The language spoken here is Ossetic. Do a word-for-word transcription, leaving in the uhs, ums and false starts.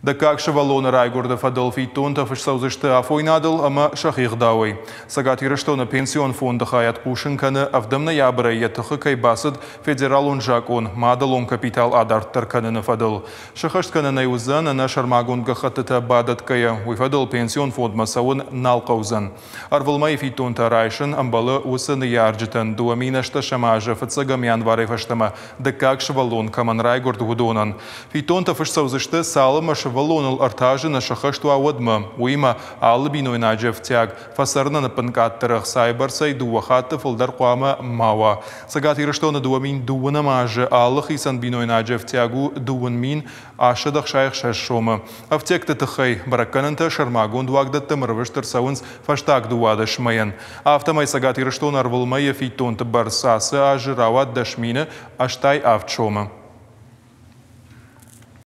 Дыккаг сывӕллоны райгуырды фӕдыл фиддонтӕ фыст цӕудзысты афойнадыл ӕмӕ сӕхи гъдауӕй. Цӕгат Ирыстоны пенсион фонды хайад хъусын кӕны, ӕвдӕм ноябрӕй йӕ тыхы кӕй бацыд федералон закъон мадӕлон капитал адарддӕр кӕныны фӕдыл. Сыххӕст кӕнӕн ӕй уыдзӕн ӕнӕ сӕрмагонд гӕххӕттытӕ бадӕтгӕйӕ, уый фӕдыл пенсион фондмӕ цӕуын нал хъӕудзӕн. Ӕрвылмӕйы фиддонтӕ райсын ӕмбӕлы уыцы ныййарджытӕн, дыууӕ мин ӕстдӕсӕм азы фыццӕгӕм январӕй фӕстӕмӕ дыккаг сывӕллон кӕмӕн райгуырд, уыдонӕн. Фиддонтӕ фыст цӕудзысты, цалынмӕ сывӕллоныл ӕртӕ азы нӕ сӕххӕст уа, уӕдмӕ. Уыимӕ алы бинойнаджы ӕфтиаг фӕцӕрынӕн ӕппынкъаддӕр ӕхцайы бӕрцӕй дыууӕ хатты фылдӕр хъуамӕ ма уа. Цӕгат Ирыстоны дыууӕ мин дыууынӕм азы алы хицӕн бинойнаджы ӕфтиаг у дыууын мин астсӕдӕ ӕхсай ӕхсӕз сомы. Ӕфтиӕгты тыххӕй бӕрӕггӕнӕнтӕ сӕрмагонд уагдӕттӕм ӕрвыст ӕрцӕуынц фӕстаг дыууадӕс мӕйӕн. Афтӕмӕй Цӕгат Ирыстоны ӕрвылмӕйы фиддонты бӕрц ацы азы рауад дӕс мины ӕстай авд сомы.